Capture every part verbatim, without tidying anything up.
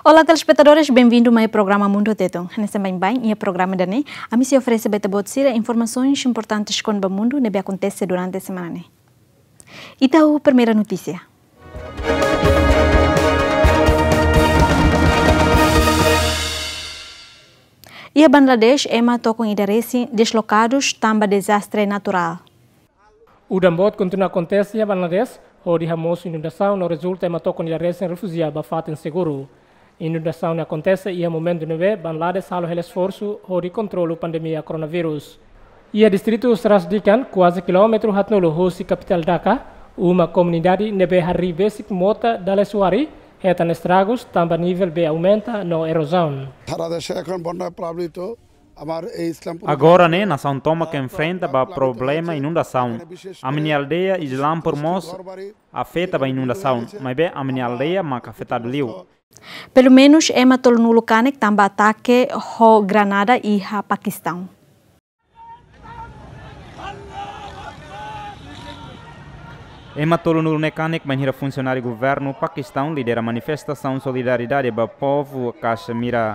Olá, telespetadores, benvindu mai programa Mundu Tetun. Hanesan baibain iha programa ida-ne'e, ami sei oferese ba ita-boot sira informasoens importantes kona-ba mundu ne'ebé akontese durante semana ne'e. Ita ho primeira notísia. Iha Bangladesh, ema tokon ida resin deslokadus tanba dezastre naturál. Udan boot kontinua akontese iha Bangladesh, hodi hamosu inundasaun no rezulta ema tokon ida resin refújia ba fatin seguru. Inundasaun ne'e akontese iha momentu ne'ebé Bangladesh halo hela esforsu hodi kontrolu pandemia koronavírus. Iha distritu Sarasadhikan, kuaze kilómetru haatnulu husi kapitál Dhaka, uma komunidade ne'ebé harii besik mota dala suari, hetan estragus tanba nivel bee aumenta no erozaun. সারা দেশে এখন বন্যা প্লাবিত আমার এই Islampur Agora ne'e, nasaun tomak enfrenta ba problema inundasaun. Ami-nia aldeia Islampur mós afeta ba inundasaun, maibé ami-nia aldeia mak afetadu liu. Pelumenus ema tolunulu kanek tanba atake ho granada iha Pakistaun. Ema tolunulu ne'e kanek bainhira funsionáriu governu Pakistaun lidera manifestasaun solidariedade ba povu Caxemira.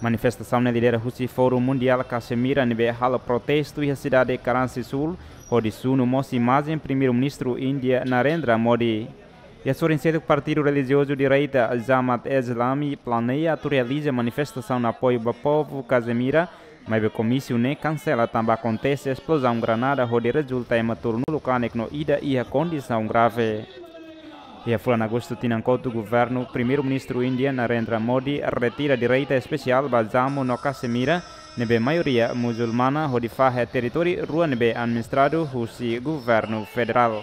Manifestasaun ne'e lidera husi Fórum Mundiál Caxemira ne'ebé halo protestu iha sidade Karachi Sul, hodi sunu mós imajen Primeiru-Ministru Índia Narendra Modi. Iha sorin seluk, partidu relijiozu direita Jamaat-e-Islami planeia atu realiza manifestasaun apoiu ba povu Caxemira, maibé komísiu ne'e kansela tanba akontese esplozaun granada hodi rezulta ema tolunulu kanek no ida iha kondisaun grave. Iha fulan Agostu tinan kotuk, governu Primeiru-Ministru Índia Narendra Modi retira direita espesiál ba Jammu no Caxemira, ne'ebé maioria muzulmana, hodi fahe territóriu rua ne'ebé administradu husi governu federál.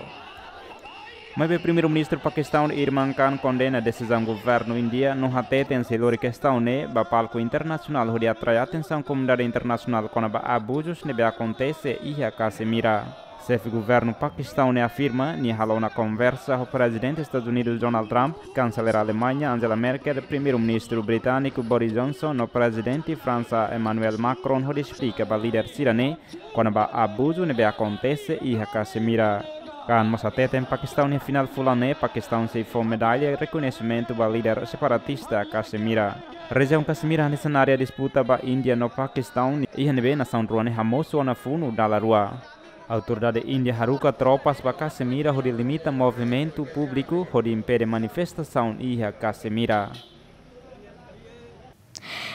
Maibé Primeiru-Ministru Pakistaun Imran Khan kondena desizaun governu Índia no hateten sei lori kestaun ne'e ba palku internasionál hodi atrai atensaun komunidade internasionál kona-ba abuzus ne'ebé akontese iha Caxemira. Xefe governu Pakistaun ne'e afirma nia halo ona konversa ho Prezidente Estadus Unidus Donald Trump, Kanselér Alemaña Angela Merkel, Primeiru-Ministru Britániku Boris Johnson no Prezidente Fransa Emmanuel Macron hodi esplika ba líder sira-ne'e kona-ba abuzu ne'ebé akontese iha Caxemira. Khan mós hateten Pakistaun iha final fulan ne'e Pakistaun sei fó medalla rekoñesimentu ba líder separatista Caxemira. Rejiaun Caxemira hanesan área disputa ba Índia no Pakistaun, iha ne'ebé nasaun rua ne'e hamosu ona funu dala rua. Autoridade Índia haruka tropas ba Caxemira hodi limita movimentu públiku hodi impede manifestasaun iha Caxemira.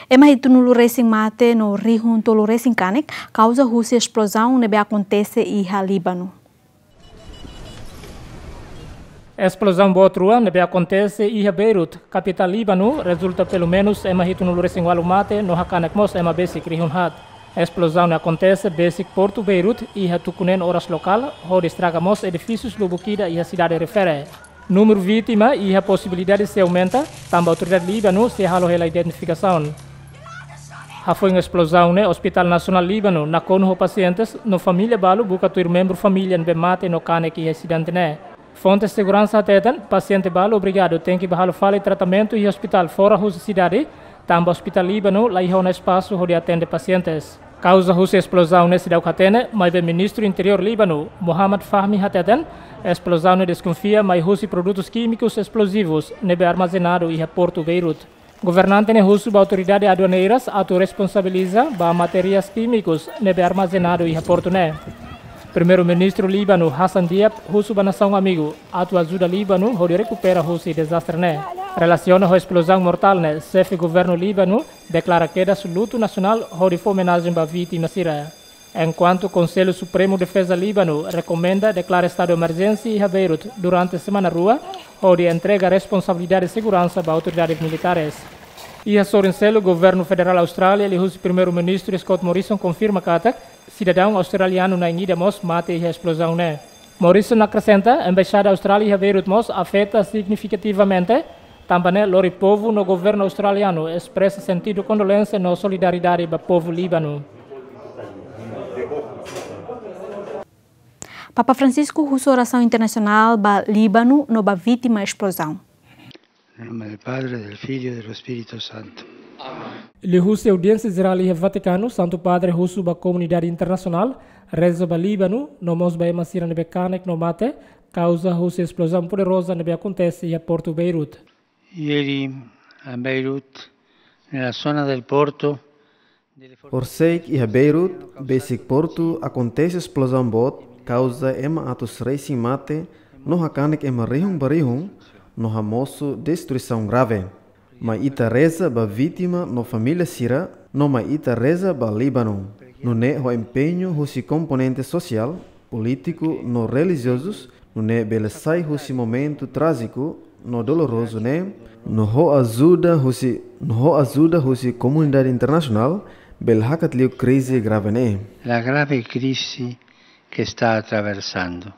Ema hitunulu resin mate no rihun tolu resin kanek kauza husi esplozaun ne'ebé akontese iha Líbanu. Esplozaun boot rua ne'ebé akontese iha Beirut, kapitál Líbanu, rezulta pelumenus ema hitunulu resin ualu mate no hakanek mós ema besik rihun haat. Esplozaun ne'e akontese besik portu Beirut iha tuku neen oras lokál, hodi estraga mós edifísius lubuk ida iha sidade refere. Númeru vítima iha posibilidade sei aumenta, tanba autoridade Líbanu sei halo hela identifikasaun. Hafoin esplozaun ne'e, Ospitál Nasionál Líbanu nakonu ho pasientes no família balu buka tuir membru família ne'ebé mate no kanek iha asidente ne'e. Fontes seguransa hateten pasiente balu obrigadu tenke bá halo fali tratamentu iha ospitál fora husi sidade, tanba Ospitál Líbanu la iha ona espasu hodi atende pasientes. Kauza husi esplozaun ne'e seidauk hatene, maibé Ministru Interiór Líbanu, Mohammad Fahmi hateten, esplozaun ne'e deskonfia mai husi produtus kímikus esplozivus ne'ebé armazenadu iha portu Beirut. Governante ne'e husu ba autoridade aduaneiras atu responsabiliza ba materiais kímikus ne'ebé armazenadu iha portu ne'e. Primeiru-Ministru Líbanu, Hassan Diab, husu ba nasaun amigu atu ajuda Líbanu hodi rekupera husi dezastre ne'e. Relasiona ho esplozaun mortál ne'e, xefe governu Líbanu deklara kedas lutu nasionál hodi fó omenajen ba vítima sira. Enkuantu Konsellu Supremu Defeza Líbanu rekomenda deklara estadu emerjénsia iha Beirut durante semana rua, hodi entrega responsabilidade seguransa ba autoridades militares. Iha sorin seluk, governu federál Austrália, liuhusi Primeiru-Ministru Scott Morrison, konfirma katak sidadaun australianu na'in ida mós mate iha esplozaun ne'e. Morrison akresenta, Embaixada Austrália iha Beirut mós afeta signifikativamente, tanba ne'e lori povu no governu australianu espresa sentidu kondolénsia no solidariedade ba povu Líbanu. Papa Francisco husu orasaun internasionál ba Líbanu no ba vítima esplozaun. Nel nome del Padre, del Figlio e dello Spirito Santo. Liuhusi audiénsia jerál iha Vatikanu, Santu Padre husu ba komunidade internasionál reza ba Líbanu, no mós ba ema sira ne'ebé kanek no mate kauza husi esplozaun poderoza ne'ebé akontese iha portu Beirut. Ieri A Beirut, nella zona del porto, delle forti- Horiseik iha Beirut, besik portu, akontese esplozaun boot, kauza ema atus resin mate, no hakanek ema rihun ba rihun, no hamosu destruisaun grave. Mai ita reza ba vítima no família sira, no mai ita reza ba Líbanu. Nune'e ho empeñu husi komponente sosiál, polítiku no relijiozus, nune'e bele sai husi momentu trájiku no dolorozu ne'e, no ho ajuda husi, no ho ajuda husi komunidade internasionál, bele hakat liu krize grave ne'e. La grave crisi che sta attraversando.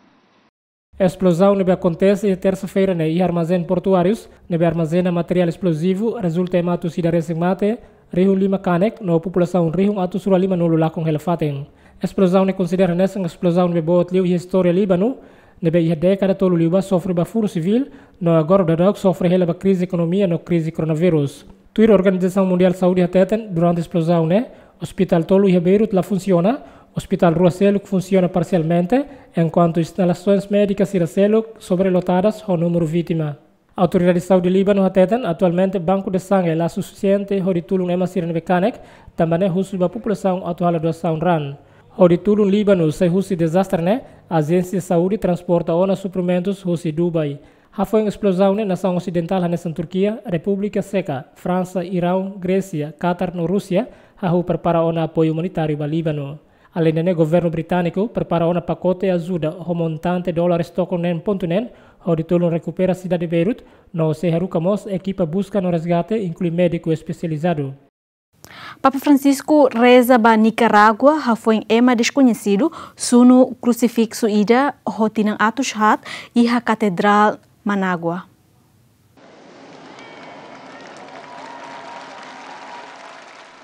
Esplozaun ne'ebé akontese iha tersa-feira ne'e iha armazén portuárius, ne'ebé armazena materiál esplozivu, rezulta ema atus ida resin mate, rihun lima kanek, no populasaun rihun atus rua limanulu lakon hela fatin. Esplozaun ne'e konsidera hanesan esplozaun ne'ebé boot liu iha istória Líbanu, ne'ebé iha dékada tolu liubá sofre ba furu sivíl, no agora daudauk sofre hela ba krize ekonomia no krize koronavírus. Tuir Organizasaun Mundiál Saúde hateten, durante esplozaun ne'e, ospitál tolu iha Beirut la funsiona, ospitál rua seluk funsiona parsialmente, enkuantu instalasoens médikas sira seluk sobrelotadas ho númeru vítima. Autoridade Saúde Líbanu hateten, atualmente banku de sangre la sufisiente hodi tulun ema sira ne'ebé kanek, tanba ne'e husu ba populasaun atu halo doasaun raan. Hodi tulun Líbanu sai husi dezastre ne'e, ajénsia saúde transporta ona suprimentus husi Dubai. Hafoin esplozaun ne'e, nasaun osidentál hanesan Turkia, Repúblika Seka, Fransa, Iraun, Grésia, Katar no Rúsia hahú prepara ona apoiu umanitáriu ba Líbanu. Aleinde ne'e, governu britániku prepara ona pakote ajuda ho montante dólares tokon neen pontu neen, hodi tulun rekupera sidade Beirut, no sei haruka mós ekipa buska no resgate, inklui médiku espesializadu. Papa Francisco reza ba Nikarágua hafoin ema deskoñesidu sunu krusifiksu ida ho tinan atus haat iha Katedrál Managua.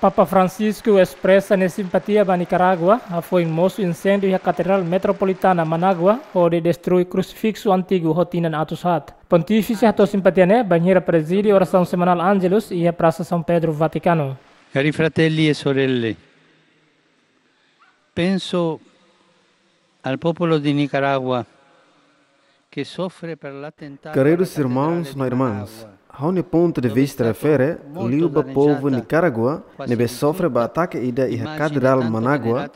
Papa Francisco espresa nia simpatia ba Nikarágua hafoin mosu inséndiu iha Katedrál Metropolitana Managua, hodi destrui krusifiksu antigu ho tinan atus haat. Pontífise hato'o simpatia ne'e bainhira prezide orasaun semanál Angelus iha Prasa São Pedro, Vatikanu. Cari fratelli e sorelle, penso al popolo di Nicaragua che soffre per l'attentato alla cattedrale di Managua. Queridos irmãos no irmãs, ha'u-nia pontu de vista refere liu ba povu Nikarágua ne'ebé sofre ba atake ida iha Katedrál Managua,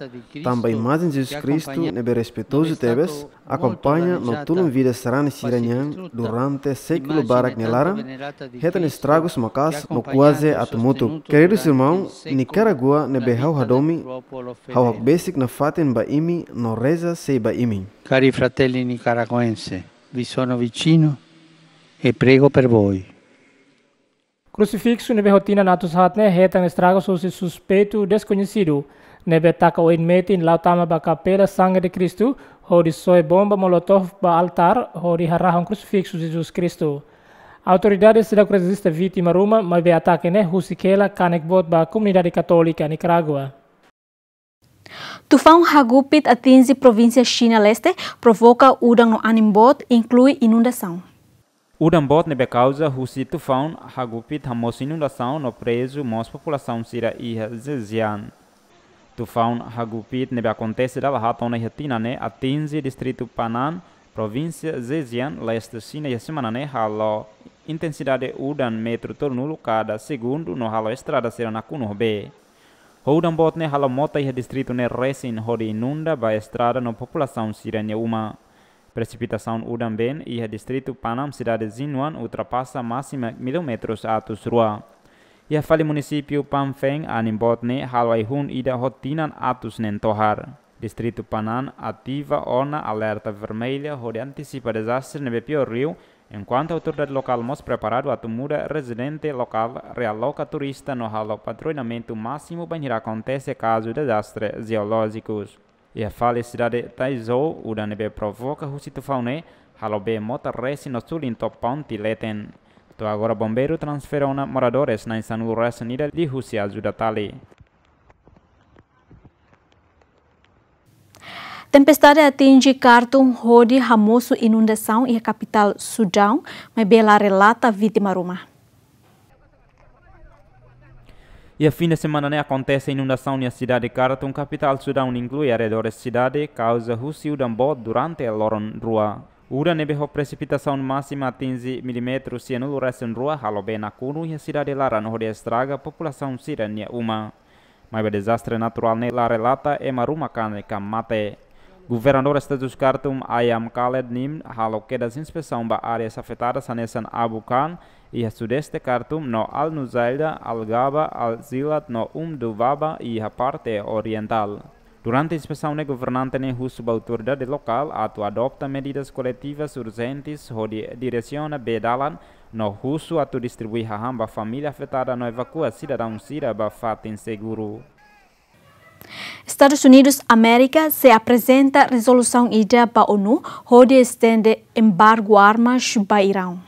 tanba imajen Jesus Kristu ne'ebé respeitozu tebes akompaña no tulun vida sarani sira-nian durante sékulu barak nia laran, hetan estragus maka'as no kuaze atu mutuk. Queridos irmãos, Nikarágua ne'ebé ha'u hadomi, ha'u hakbesik nafatin ba imi no reza sei ba imi. Cari fratelli nicaragüense, vi sono vicino e prego per voi. Krusifiksu ne'ebé ho tinan atus haat ne'e hetan estragus husi suspeitu deskoñesidu ne'ebé taka oin metin la'o tama ba Kapela Sangre de Cristo, hodi soe bomba molotov ba altár, hodi harahun krusifiksu Jesus Kristu. Autoridade seidauk rejista vítima ruma, maibé atake ne'e husik hela kanek boot ba komunidade katólika Nikarágua. Tufaun Hagupit atinje provínsia Xina Leste, provoka udan no anin boot, inklui inundasaun. Udan boot ne'ebé kauza husi tufaun Hagupit hamosu inundasaun no prezu mós populasaun sira iha Zhejiang. Tufaun Hagupit ne'ebé akontese dala haat ona iha tinan ne'e atinje distritu Pan'an, provínsia Zhejiang, leste Xina iha semana ne'e halo intensidade udan metru tolunulu kada segundu no halo estrada sira nakonu ho bee. Ho udan boot ne'e halo mota iha distritu ne'e resin hodi inunda ba estrada no populasaun sira-nia uma. Presipitasaun udan-been iha distritu Pan'an sidade Jinwan ultrapasa másima milímetrus atus rua. Iha fali munisípiu Panfeng anin boot ne'e halo ai-hun ida ho tinan atus neen tohar. Distritu Pan'an ativa ona alerta vermelha hodi antisipa dezastre ne'ebé piór liu, enkuantu autoridade lokál mós preparadu atu muda rezidente lokál, realoka turista no halo patrulhamentu másimu bainhira akontese kazu dezastre jeolójikus. Iha fali sidade Taizhou, udan ne'ebé provoka husi tufaun ne'e halo bee mota resin no sulin to'o ponte leten. To'o agora bombeiru transfere ona moradores na'in sanulu resin ida liuhusi ajuda tali. Tempestade atinje Khartoum hodi hamosu inundasaun iha kapitál Sudaun, maibé la relata vítima ruma. Iha fin de semana ne'e akontese inundasaun iha sidade Khartoum, kapitál Sudaun, inklui arredores sidade, kauza husi udan boot durante loron rua. Udan ne'ebé ho presipitasaun másima atinje milímetru sianulu resin rua halo bee nakonu iha sidade laran hodi estraga populasaun sira-nia uma. Maibé dezastre naturál ne'e la relata ema ruma kanek ka mate. Governadór Estadu Khartoum Ayam Khaled Nimr halo kedas inspesaun ba áreas afetadas hanesan Abu Khan iha sudeste Khartoum no Al Nuzaida, Al Gaba, Al Zilat no Umdubaba iha parte orientál. Durante inspesaun ne'e governante ne'e husu ba autoridade lokál atu adota medidas koletivas urjentes hodi diresiona bee dalan no husu atu distribui hahán ba família afetada no evakua sidadaun sira ba fatin seguru. Estadus Unidus Amérika sei aprezenta rezolusaun ida ba ONU hodi estende embargu armas ba Iraun.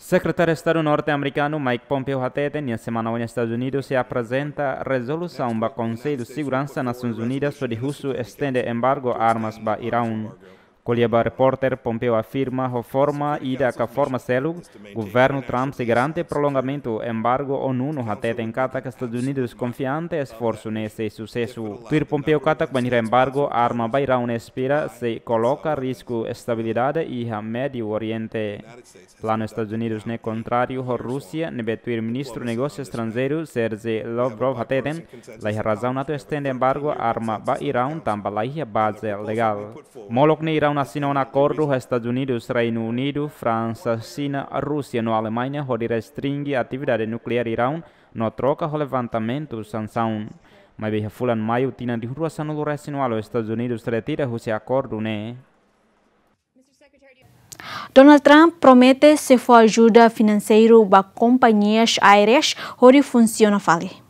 Sekretáriu Estadu norte-amerikanu Mike Pompeo hateten nia semana oin Estadus Unidus sei aprezenta rezolusaun ba Konsellu Seguransa Nasoins Unidas hodi husu estende embargu armas ba Iraun. Ko'alia ba repórter, Pompeo afirma ho forma ida ka forma seluk, governu Trump sei garante prolongamentu embargu ONU no hateten katak Estadus Unidus konfiante esforsu ne'e sei susesu. Tuir Pompeo katak bainhira embargu arma ba Iraun ne'e espera sei koloka risku estabilidade iha Médiu Oriente. Planu Estadus Unidus ne'e kontráriu ho Rúsia, ne'ebé tuir Ministru Negósiu Estranjeiru Sergei Lavrov hateten, laiha razaun atu estende embargu arma ba Iraun tanba laiha baze legál. Molok ne'e Iraun asina ona akordu ho Estadus Unidus, Reinu Unidu, Fransa, Xina, Rúsia no Alemaña hodi restringe atividade nukleár Iraun no troka ho levantamentu sansaun. Maibé iha fulan Maiu tinan rihun rua sanulu resin ualu Estadus Unidus retira husi akordu ne'e. Donald Trump promete sei fó ajuda finanseiru ba kompañias aéreas hodi funsiona fali.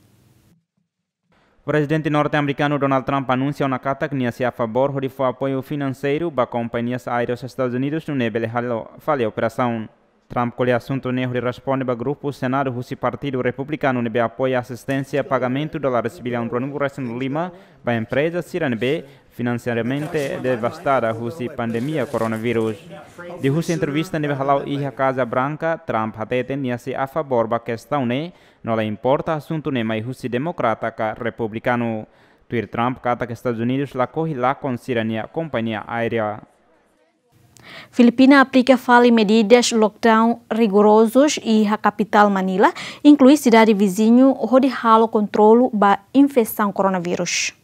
Prezidente norte-amerikanu Donald Trump anunsia ona katak nia sei a favór hodi fó apoiu finanseiru ba kompañias aéreas Estadus Unidus nune'e bele halo fali operasaun. Trump ko'alia asuntu ne'e hodi responde ba grupu Senadu husi Partidu Republikanu ne'ebé apoia asisténsia pagamentu dólares billaun ruanulu resin lima ba empreza sira ne'ebé finansiariamente devastada husi pandemia koronavírus. Liuhusi entrevista ne'ebé hala'o iha Kaza Branka, Trump hateten nia sei a favór ba kestaun ne'e, no la importa asuntu ne'e mai husi demokrata ka republikanu. Tuir Trump katak Estadus Unidus lakohi lakon sira-nia kompañia aérea. Filipina aplika fali medidas lockdown rigorozus iha kapitál Manila, inklui sidade viziñu, hodi halo kontrolu ba infesaun koronavírus.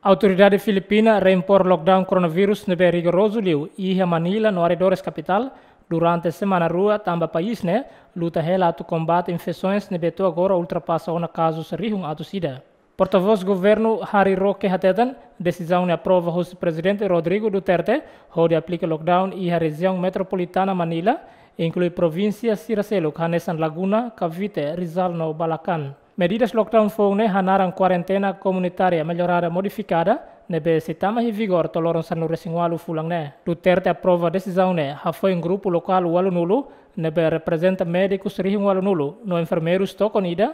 Autoridade Filipina reimpor lockdown koronavírus ne'ebé rigorozu liu iha Manila no arredores kapitál durante semana rua, tanba país ne'e luta hela atu kombate infesoens ne'ebé to'o agora ultrapasa ona kazus rihun atus ida. Portavós governu Harry Roque hateten, desizaun ne'e aprova husi Prezidente Rodrigo Duterte hodi aplika lockdown iha rejiaun metropolitana Manila, inklui provínsia sira seluk hanesan Laguna, Cavite, Rizal no Bulacan. Medidas lockdown foun ne'e hanaran kuarentena komunitária mellorada modifikada, ne'ebé sei tama iha vigór to'o loron sanulu resin ualu fulan ne'e. Duterte aprova desizaun ne'e hafoin grupu lokál ualunulu, ne'ebé reprezenta médikus rihun ualunulu no enfermeirus tokon ida,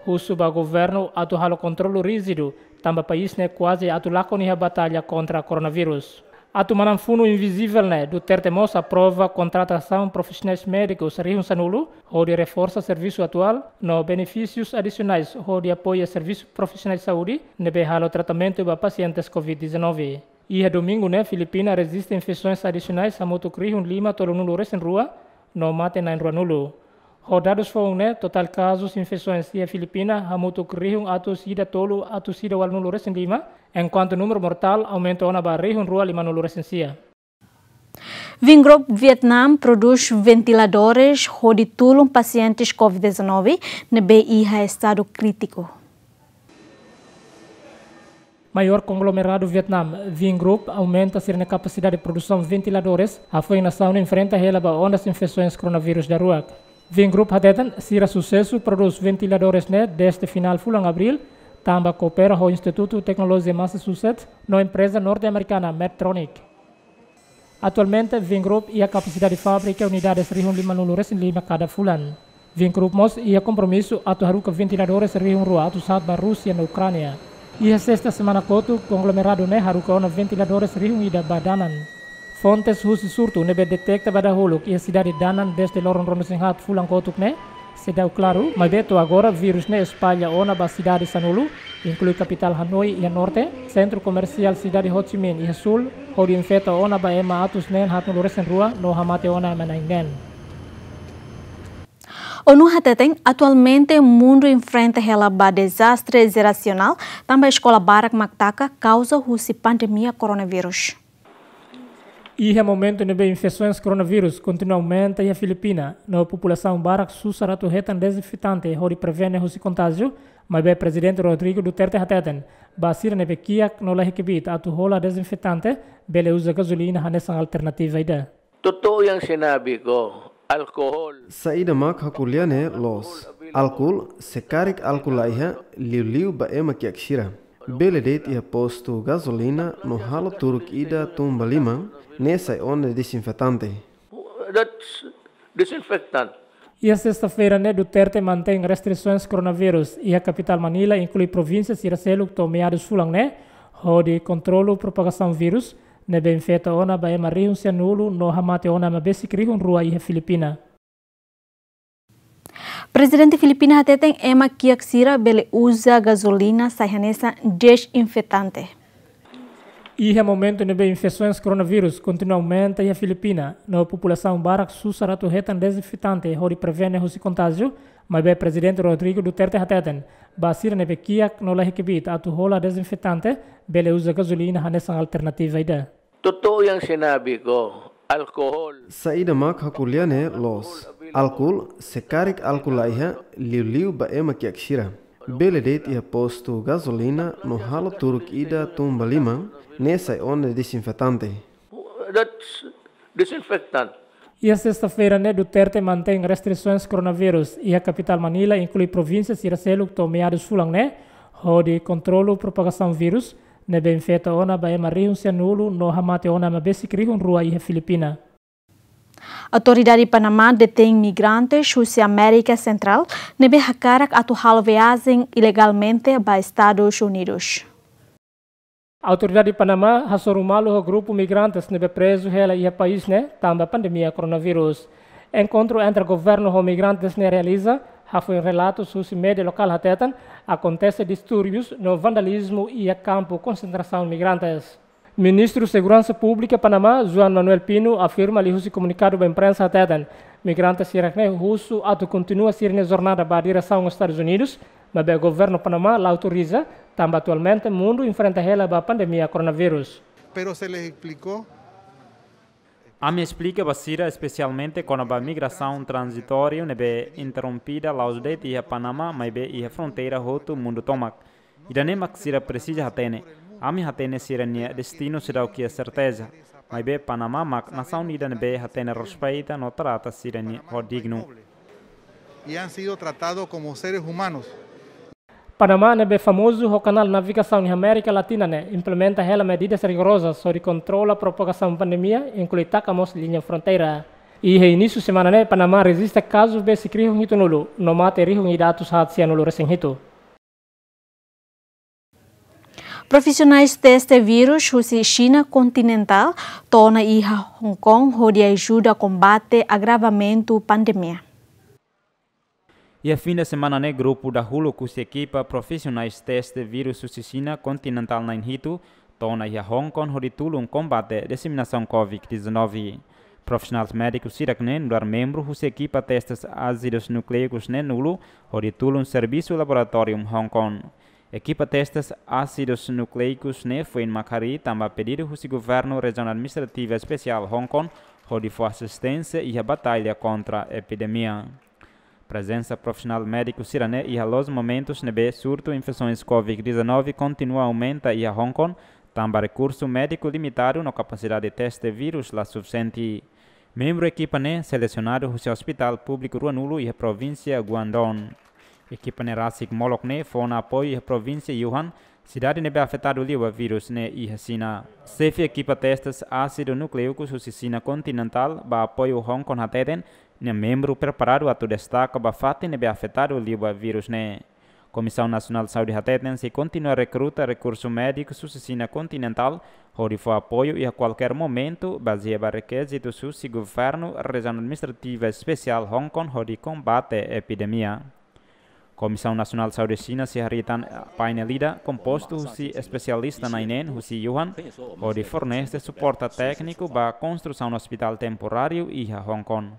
husu ba governu atu halo kontrolu ríjidu, tanba país ne'e kuaze atu lakon iha batalla kontra koronavírus. Atu manán funu invizivel ne'e, Duterte mós aprova kontratasaun profisionais médikus rihun sanulu, hodi reforsa servisu atuál, no benefísius adisionais, hodi apoia servisu profisionais saúde, ne'ebé halo tratamentu ba pasientes covid dezanove. Iha domingu ne'e, Filipina rejista infesoens adisionais hamutuk rihun lima tolunulu resin rua, no mate na'in ruanulu. Ho dadus foun ne'e, totál kazus infesoens iha Filipina hamutuk rihun atus ida tolu atus ida ualunulu resin lima, enkuantu númeru mortál aumenta ona ba rihun rua limanulu resin sia. Vingroup Vietnam prodús ventiladores hodi tulun pasientes covid dezanove ne'ebé iha estadu krítiku. Maiór konglomeradu Vietnam, Vingroup, aumenta sira-nia kapasidade produsaun ventiladores, hafoin nasaun enfrenta hela ba ondas infesoens koronavírus daruak. Vingroup hateten, sira susesu prodús ventiladores ne'e dezde finál fulan Abríl, tanba koopera ho Institutu Teknolojia Massachusetts no empreza norte-amerikana Medtronic. Atualmente, Vingroup iha kapasidade fábrika unidades rihun limanulu resin lima kada fulan. Vingroup mós iha kompromisu atu haruka ventiladores rihun rua atus haat ba Rúsia no Ukránia. Iha sesta semana kotuk, konglomeradu ne'e haruka ona ventiladores rihun ida ba Danan. Fontes husi surtu ne'ebé deteta ba dahuluk iha sidade Danan dezde loron ruanulu resin haat fulan kotuk ne'e, Seidauk klaru, maibé to'o agora vírus ne'e espalla ona ba sidade sanulu, inklui kapitál Hanoi iha norte, sentru komersiál sidade Ho Chi Minh iha súl, hodi infeta ona ba ema atus neen haatnulu resin rua no hamate ona ema na'in neen. ONU hateten, atualmente mundu enfrenta hela ba dezastre jerasionál, tanba eskola barak mak taka kauza husi pandemia koronavírus. Iha momentu ne'ebé infesaun koronavírus kontinua aumenta iha Filipina, no populasaun barak susar atu hetan dezinfetante hodi prevene husi kontájiu, maibé Prezidente Rodrigo Duterte hateten, ba sira ne'ebé kiak no laiha kbiit atu hola dezinfetante, bele uza gazolina hanesan alternativa ida. Totoo yang sinabi ko, alkohol. Saida mak ha'u ko'alia ne'e loos. Álkol, se karik álkol laiha, liuliu ba ema kiak sira, bele de'it iha postu gazolina no halo turuk ida tun ba liman, ne'e sai ona dezinfetante. That's disinfectant. Iha sesta-feira ne'e Duterte mantein restrisaun koronavírus iha kapitál Manila, inklui provínsia sira seluk to'o meadus fulan ne'e, hodi kontrolu propagasaun vírus, ne'ebé infeta ona ba ema rihun sianulu no hamate ona ema besik rihun rua iha Filipina. Prezidente Filipina hateten ema kiak sira bele uza gazolina sai hanesan dezinfetante. Iha momentu ne'ebé infesaun koronavírus kontinua aumenta iha Filipina, no populasaun barak susar atu hetan dezinfetante hodi prevene husi kontájiu, maibé Prezidente Rodrigo Duterte hateten, ba sira ne'ebé kiak no laiha kbiit atu hola dezinfetante, bele uza gazolina hanesan alternativa ida. Totoo yang sinabi ko, alkohol. Saida mak ha'u ko'alia ne'e loos. Álkol, se karik álkol laiha, liuliu ba ema kiak sira, bele de'it iha postu gazolina no halo turuk ida tun ba liman, ne'e sai ona dezinfetante. That's disinfectant. Iha sesta-feira ne'e Duterte mantein restrisaun koronavírus iha kapitál Manila, inklui provínsia sira seluk to'o meadus fulan ne'e, hodi kontrolu propagasaun vírus, ne'ebé infeta ona ba ema rihun sianulu no hamate ona ema besik rihun rua iha Filipina. Autoridade Panamá detein migrantes husi Amérika Sentrál ne'ebé hakarak atu halo viajen ilegalmente ba Estadus Unidus. Autoridade Panamá hasoru malu ho grupu migrantes ne'ebé prezu hela iha país ne'e tanba pandemia koronavírus. Enkontru entre governu ho migrantes ne'e realiza, hafoin relatus husi média lokál hateten, akontese distúrbius no vandalizmu iha kampu konsentrasaun migrantes. Ministru Seguransa Públika Panamá, Juan Manuel Pino, afirma liuhusi komunikadu ba imprensa hateten, migrante sira-ne'e husu atu kontinua sira-nia jornada ba diresaun Estadus Unidus, maibé governu Panamá la autoriza, tanba atualmente mundu enfrenta hela ba pandemia koronavírus. Pero se les explicó. Ami esplika ba sira, espesialmente kona-ba migrasaun tranzitóriu ne'ebé interrompida la'ós de'it iha Panamá, maibé iha fronteira hotu mundu tomak. Ida-ne'e mak sira presiza hatene. Ami hatene sira-nia destinu seidauk iha serteza. Maibé Panamá mak nasaun ida ne'ebé hatene respeita no trata sira-nia ho dignu. Y han sido tratados como seres humanos. Panamá ne'ebé famozu ho kanál navigasaun iha Amérika Latina ne'e implementa hela medidas rigorozas hodi kontrola propagasaun pandemia, inklui taka mós liña fronteira. Iha inísiu semana ne'e Panamá rejista kazu besik rihun hitunulu, no mate rihun ida atus haat sianulu resin hitu. Profisionais teste vírus husi Xina kontinentál to'o ona iha Hong Kong hodi ajuda kombate agravamentu pandemia. Iha fin de semana ne'e grupu dahuluk husi ekipa profisionais teste vírus husi Xina kontinentál na'in hitu to'o ona iha Hong Kong hodi tulun kombate diseminasaun covid dezanove. Profisionais médiku sira-ne'e nu'udar membru husi ekipa testes ásidus nukleus neen-nulu hodi tulun servisu laboratóriu Hong Kong. Ekipa testes ásidus nukleus ne'e foin mak harii tanba pedidu husi governu Rejiaun Administrativa Espesiál Hong Kong hodi fó asisténsia iha batalla kontra epidemia. Prezensa profisionál médiku sira-ne'e iha loos momentus ne'ebé surtu infesaun covid dezanove kontinua aumenta iha Hong Kong, tanba rekursu médiku limitadu no kapasidade teste vírus la sufisiente. Membru ekipa ne'e selesionadu husi ospitál públiku rua-nulu iha provínsia Guangdong. Ekipa ne'e rasik molok ne'e fó ona apoiu iha provínsia Yunnan, sidade ne'ebé afetadu liu ba vírus ne'e iha Xina. Xefe ekipa testes ásidu nukleus husi Xina kontinentál ba apoiu Hong Kong hateten, nia membru preparadu atu destaka ba fatin ne'ebé afetadu liu ba vírus ne'e. Komisaun Nasionál Saúde hateten sei kontinua rekruta rekursu médiku husi Xina kontinentál, hodi fó apoiu iha kualkér momentu, bazeia ba rekizitu husi governu, Rejiaun Administrativa Espesiál Hong Kong hodi kombate epidemia. Komisaun Nasionál Saúde Xina sei harii tan painel ida kompostu husi espesialista na'in-neen husi Wuhan, hodi fornese suporta tékniku ba konstrusaun ospitál temporáriu iha Hong Kong.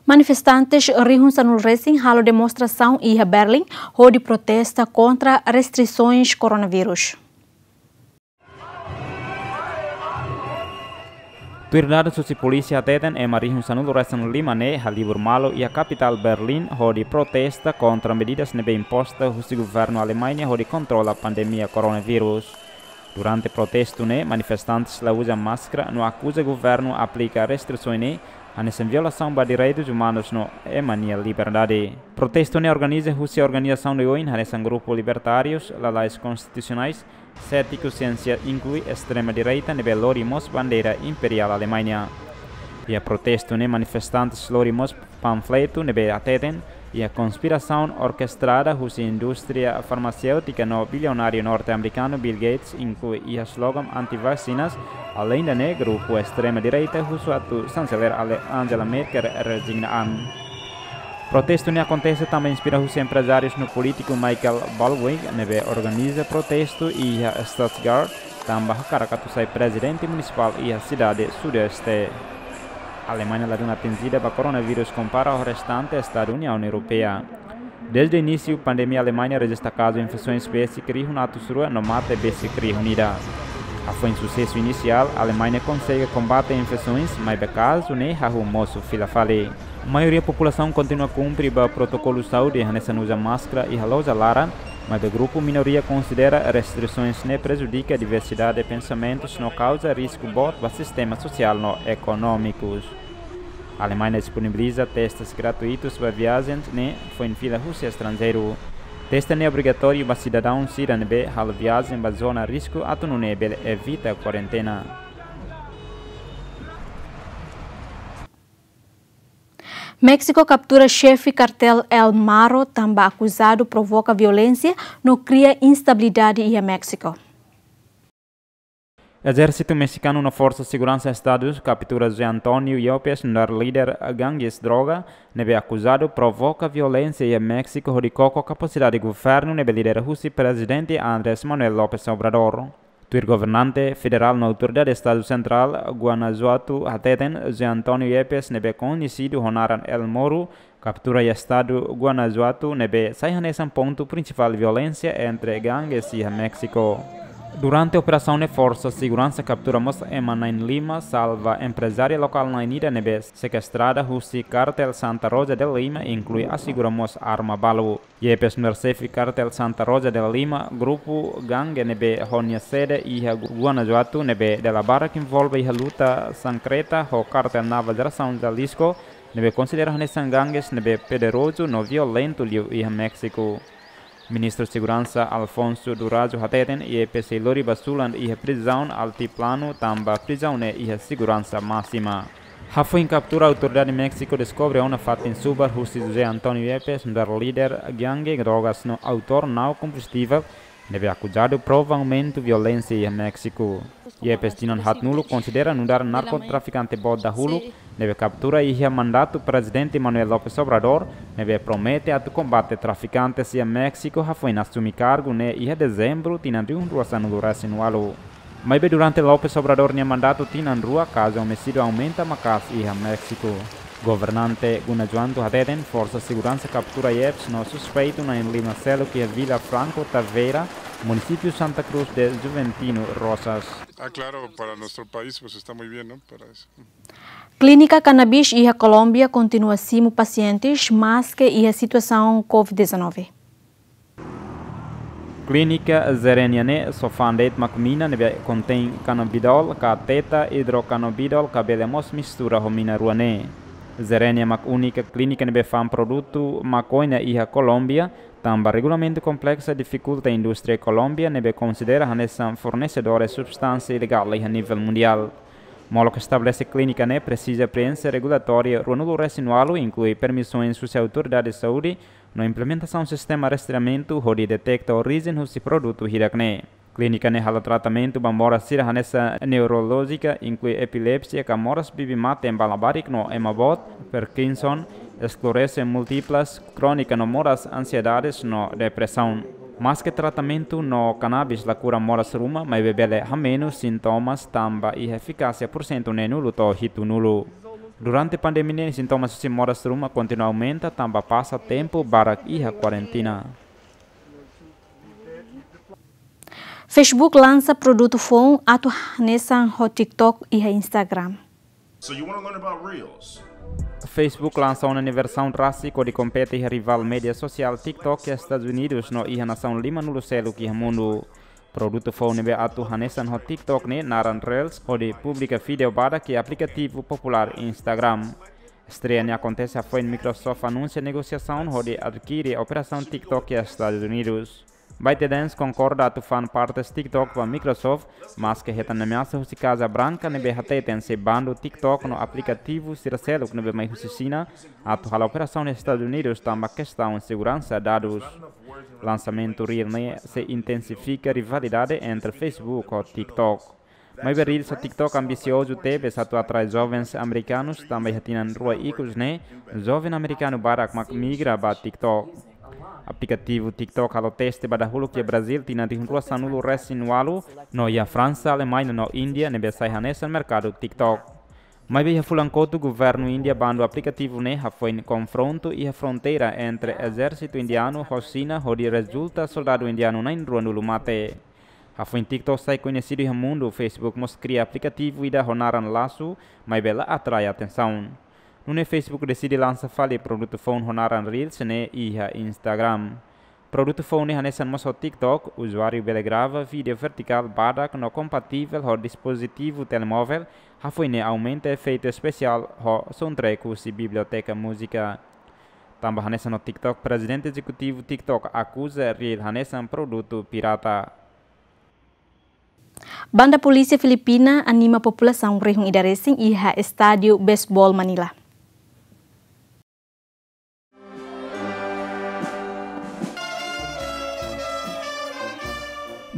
Manifestantes rihun sanulu-resin halo demonstrasaun iha Berlin, hodi protesta kontra restrisoens koronavírus. Tuir dadus husi polísia hateten ema rihun sanulu-resin-lima ne'e halibur malu iha kapitál Berlin hodi protesta kontra medidas ne'ebé imposta husi governu Alemaña hodi kontrola pandemia koronavírus. Durante protestu ne'e, manifestantes la uza máskara no akuza governu aplika restrisoens ne'e hanesan violasaun ba direitus umanus no ema nia liberdade. Protestu ne'e organiza husi organizasaun oioin hanesan grupu libertárius, lalais konstitusionais, sétiku, siénsia, inklui estrema direita ne'ebé lori mós bandeira imperiál Alemaña. Iha protestu ne'e manifestantes lori mós panfletu ne'ebé hateten iha konspirasaun orkestrada husi indústria farmaséutika no bilionáriu norte-amerikanu Bill Gates, inklui iha slogan anti-vaksinas, alende ne'e grupu estrema direita husu atu Chanceler Ale-, Angela Merkel rezigna an. Protestu ne'e akontese tanba inspira husi emprezáriu no polítiku Michael Baldwin, ne'ebé organiza protestu iha Stuttgart, tanba hakarak atu sai prezidente munisipál iha sidade sudoeste. Alemaña ladún atinjida ba koronavírus kompara ho restante estadu Uniaun Europeia. Desde inísiu pandemia, Alemaña rejista kazu infesoens besik rihun atus rua no mate besik rihun ida. Hafoin susesu inisiál, Alemaña konsege kombate infesoens, maibé kazu ne'e hahú mosu fila fali. Maioria populasaun kontinua kumpre ba protokolu saúde hanesan uza máskara iha loja laran, maibé grupu minoria konsidera restrisoens ne'e prejudika diversidade pensamentus no kauza risku boot ba sistema sosiál no ekonómikus. Alemaña disponibiliza testes gratuitus ba viajen ne'e foin fila husi estranjeiru. Teste ne'e obrigatóriu ba sidadaun sira ne'ebé halo viajen ba zona risku atu nune'e bele evita kuarentena. Méxiku kaptura xefe kartél El Maro tanba akuzadu provoka violénsia no kria instabilidade iha Méxiku. Ezérsitu mexikanu no forsa seguransa estadu kaptura José Antonio Yepes, nu'udar líder gangues droga, ne'ebé akuzadu provoka violénsia iha Méxiku hodi koko kapasidade governu ne'ebé lidera husi Prezidente Andrés Manuel López Obrador. Tuir governante federál no autoridade estadu sentrál Guanajuato hateten, José Antonio Yepes ne'ebé koñesidu ho naran El Moro, kaptura iha estadu Guanajuato ne'ebé sai hanesan pontu prinsipál violénsia entre gangues iha Méxiku. Durante operasaun ne'e forsa seguransa kaptura mós ema na'in-lima, salva emprezária lokál na'in-ida ne'ebé sekuestrada husi kartél Santa Rosa de Lima, inklui asegura mós arma balu. Yepes nu'udar xefe kartél Santa Rosa de Lima, grupu gangue ne'ebé ho nia sede iha Gu-, Guanajuato, ne'ebé dala barak envolve iha luta sankreta ho kartél Nova Geração Jalisco, ne'ebé konsidera hanesan gangues ne'ebé poderozu no violentu liu iha Méxiku. Ministru Seguransa Alfonso Durazo hateten, Yepes sei lori ba sulan iha prizaun Altiplano tanba prizaun ne'e iha seguransa másima. Hafoin kaptura, autoridade Méxiku deskobre ona fatin subar husi José Antonio Yepes, nu'udar líder gangue drogas no autór nau-kombustivel, ne'ebé akuzadu provokamentu violénsia iha Méxiku. Yepes tinan haatnulu konsidera nu'udar narkotrafikante boot dahuluk, ne'ebé kaptura iha mandatu Prezidente Manuel López Obrador, ne'ebé promete atu kombate trafikantes iha Méxiku hafoin asumi kargu ne'e iha Dezembru tinan rihun rua sanulu-resin-ualu. Maibé durante López Obrador nia mandatu tinan rua, kazu omisídiu aumenta maka'as iha Méxiku. Governante Guanajuato hateten, forsa seguransa kaptura Yepes no suspeitu na'in-lima seluk iha Vila Franco Tavera, munisípiu Santa Cruz de Juventino Rosas. Ah, claro, para nuestro país, pues, está muy bien, ¿no? Para eso. Klínika kanabis iha Kolómbia kontinua simu pasientes, maske iha situasaun covid dezanove. Klínika Zerenia ne'e só fa'an de'it mak mina ne'ebé kontein cannabidiol, ka teta hidrocannabidol, ka bele mós mistura ho mina rua ne'e. Zerenia mak únika klínika ne'ebé fa'an produtu makoña iha Kolómbia, tanba regulamentu kompleksu difikulta indústria Kolómbia ne'ebé konsidera hanesan fornesedór substánsia ilegál iha nivel mundiál. Molok estabelese klínika ne'e presiza preenxe regulatóriu ruanulu-resin-ualu, inklui permisoens husi autoridade saúde, no implementasaun sistema rastreamentu hodi deteta orijen husi produtu hirak-ne'e. Klínika ne'e halo tratamentu ba moras sira hanesan neurolójika, inklui epilepsia, ka moras bibi-mate ba labarik no ema boot, Parkinson, eskllerose múltiplas krónika no moras ansiedades no depresaun. Maske tratamentu ho kanabis la kura moras ruma, maibé bele hamenus sintomas tanba iha efikásia pursentu neenulu to'o hitunulu. Durante pandemia ne'e, sintomas husi moras ruma kontinua aumenta tanba pasa tempu barak iha kuarentina. Facebook lansa produtu foun atu hanesan ho TikTok iha Instagram. So you wanna learn about Reels? Facebook lansa ona nia versaun rasik hodi kompete iha rivál média sosiál TikTok iha Estadus Unidus no iha nasaun limanulu seluk iha mundu. Produtu foun ne'ebé atu hanesan ho TikTok ne'e naran Reels, hodi publika vídeo badak iha aplikativu populár Instagram. Estreia ne'e akontese hafoin Microsoft anunsia negosiasaun hodi adkire operasaun TikTok iha Estadus Unidus. ByteDance konkorda atu fa'an partes TikTok ba Microsoft, maske hetan ameasa husi Kaza Branka ne'ebé hateten se bandu TikTok no aplikativu sira seluk ne'ebé mai husi Xina atu halo operasaun iha Estadus Unidus tanba kestaun seguransa dadus. Lansamentu Reel ne'e sei intensifika rivalidade entre Facebook ho TikTok. Maibé Reels ho TikTok ambisiozu tebes atu atrai jovens amerikanus tanba iha tinan rua ikus ne'e, joven amerikanu barak mak migra ba TikTok. Aplikativu TikTok halo teste ba dahuluk iha Brazil tinan rihun rua sanulu resin ualu, no iha Fransa, Alemaña no Índia ne'ebé sai hanesan merkadu TikTok. Maibé iha fulan kotuk governu Índia bandu aplikativu ne'e hafoin konfrontu iha fronteira entre ezérsitu indianu ho Xina hodi rezulta soldadu indianu na'in ruanulu mate. Hafoin TikTok sai koñesidu iha mundu, Facebook mós kria aplikativu ida ho naran Lasso, maibé la atrai atensaun. Nune'e Facebook deside lansa fali produtu foun ho naran Reels ne'e iha Instagram. Produtu foun ne'e hanesan mós ho TikTok, uzuáriu bele grava vídeo vertikál badak no kompativel ho dispozitivu telemóvel, hafoin ne'e aumenta efeitu espesiál ho soundtrack husi biblioteka múzika. Tanba hanesan ho TikTok, prezidente ezekutivu TikTok akuza Reel hanesan produtu pirata. Banda polísia Filipina anima populasaun rihun ida resin iha estádiu beisebol Manila.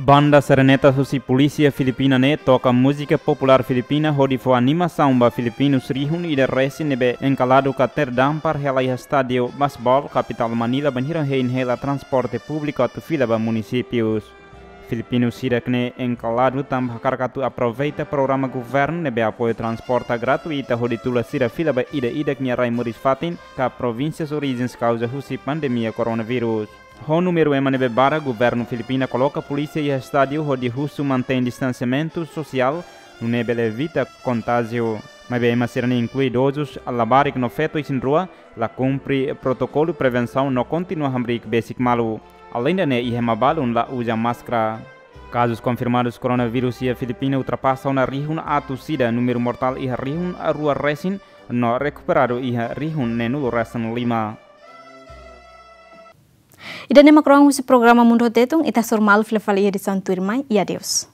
Banda sereneta husi polísia Filipina ne'e toka múzika populár Filipina hodi fó animasaun ba filipinus rihun ida resin ne'ebé enkaladu ka terdampar hela iha estádiu beisebol kapitál Manila bainhira hein hela transporte públiku atu fila ba munisípius. Filipinus hirak-ne'e enkaladu tanba hakarak atu aproveita programa governu ne'ebé apoiu transporte gratuita hodi tula sira fila ba ida-idak nia rai moris-fatin ka provínsias orijens kauza husi pandemia koronavírus. Ho númeru ema ne'ebé barak, governu Filipina koloka polísia iha estádiu hodi husu mantein distansiamentu sosiál, nune'e bele evita kontájiu. Maibé ema sira-ne'e inklui idozus, labarik no feto isin-rua, la kumpre protokolu prevensaun no kontinua hamriik besik malu. Aleinde ne'e, iha ema balun la uza máskara. Kazus konfirmadus koronavírus iha Filipina ultrapasa ona rihun atus ida, númeru mortál iha rihun rua resin, no rekuperadu iha rihun neenulu resin lima. Ida-ne'e mak rohan husi programa Mundu ho Tetun, ita hasoru malu fila fali iha edisaun tuirmai, i adeus.